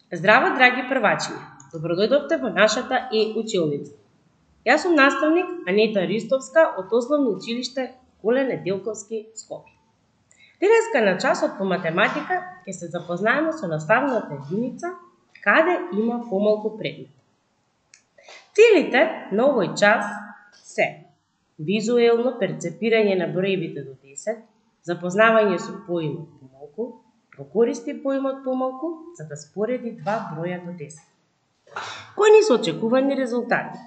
Здраво, драги првачиња! Добродојдовте во нашата училница. Јас сум наставник Анета Ристовска од Основно училиште Коле Неделковски, Скопје. Денеска на часот по математика ќе се запознаеме со наставната единица каде има помалку предмет. Целите на овој час се визуелно перцепирање на броевите до 10, запознавање со поимот помалку, го користи поимот помалку за да спореди два броја до 10. Кои ни се очекувани резултати?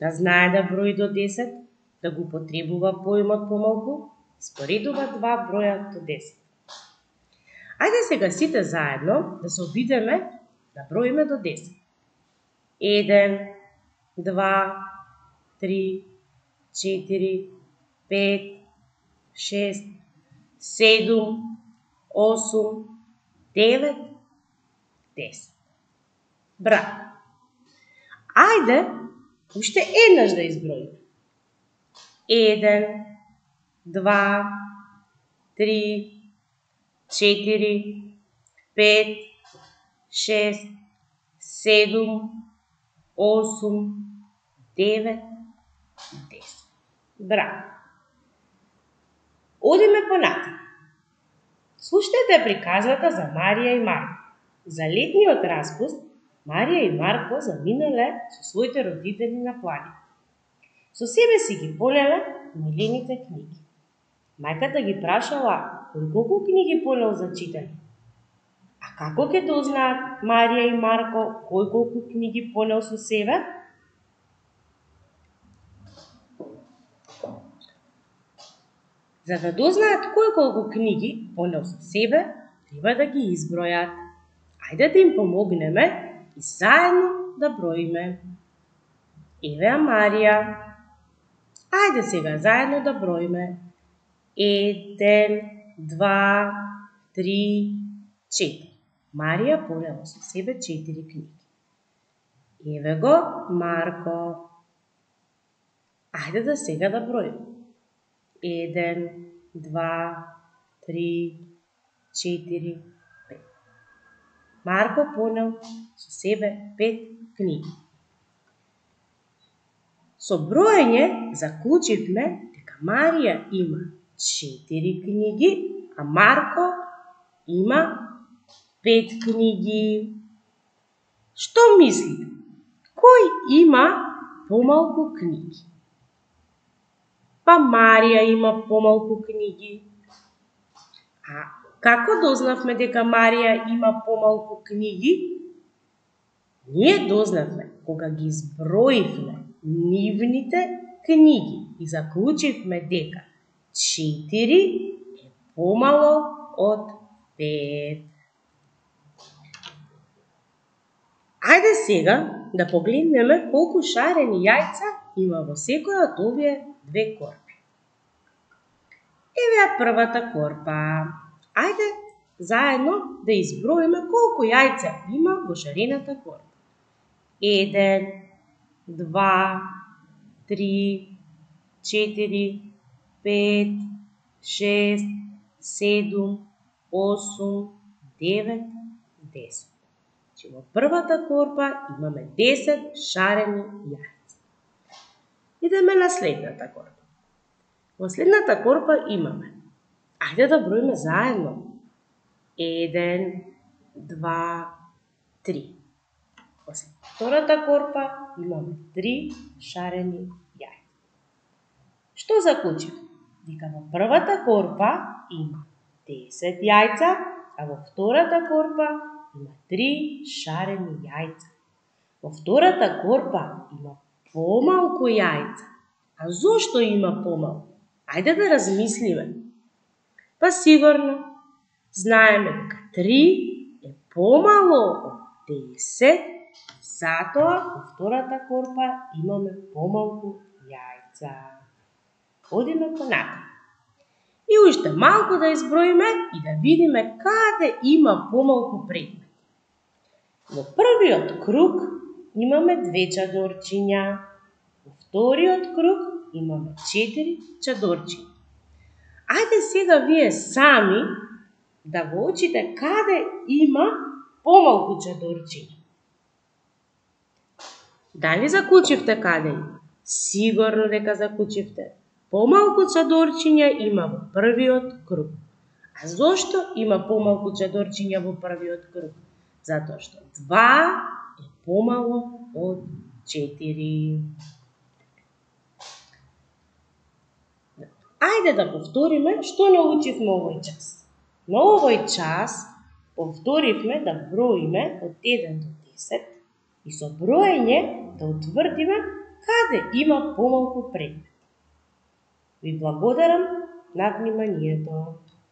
Да знае да брои до 10, да го употребува поимот помалку, споредува два броја до 10. Ајде сега сите заедно да се обидеме да броиме до 10. 1, 2, 3, 4, 5, 6, 7, 8, 9, 10. Браво! Ајде, уште еднаш да изброиме. 1, 2, 3, 4, 5, 6, 7, 8, 9, 10. Браво! Одиме понатаму. Слушнете приказната за Марија и Марко. За летниот распуст, Марија и Марко заминале со своите родители на планина. Со себе си ги понеле милените книги. Мајката ги прашала колку книги понел за читање. А како ќе дознаат Марија и Марко кој колку книги понел со себе? За да дознаат кој колку книги понел со себе, треба да ги избројат. Ајде да им помогнеме и заедно да броиме. Еве ја Марија. Ајде сега заедно да броиме. 1, 2, 3, 4. Марија понела со себе 4 книги. Еве го Марко. Ајде да сега да броиме. 1, 2, 3, 4, 5. Марко понел со себе 5 книги. Со броење заклучивме дека Марија има 4 книги, а Марко има 5 книги. Што мислите? Кој има помалку книги? Па Марија има помалку книги. А како дознавме дека Марија има помалку книги? Ние дознавме кога ги изброивме нивните книги и заклучивме дека 4 е помало од 5. Ајде сега да погледнеме колку шарени јајца има во секоја од овие две корпи. Еве ја првата корпа. Ајде заедно да изброиме колку јајца има во шарената корпа. 1, 2, 3, 4, 5, 6, 7, 8, 9, 10. Че во првата корпа имаме 10 шарени јајца. Идеме на следната корпа. Во следната корпа имаме. Ајде да броиме заедно. 1, 2, 3. Во втората корпа имаме 3 шарени јајца. Што заклучив? Дека во првата корпа има 10 јајца, а во втората корпа има 3 шарени јајца. Во втората корпа има помалку јајца. А зошто има помалку? Ајде да размислиме. Па сигурно знаеме дека 3 е помало од 10, затоа во втората корпа имаме помалку јајца. Одиме понатаму. И уште малку да изброиме и да видиме каде има помалку предмет. Во првиот круг имаме 2 чадорчиња. Во вториот круг имаме 4 чадорчиња. Ајде сега вие сами да го учите каде има помалку чадорчиња. Дали закучивте каде? Сигурно дека закучивте. Помалку чадорчиња има во првиот круг. А зошто има помалку чадорчиња во првиот круг? Затоа што 2 е помало од 4. Ајде да повториме што научивме овој час. На овој час повторивме да броиме од 1 до 10 и со броење да утврдиме каде има помалку предмет. Ви благодарам на вниманието.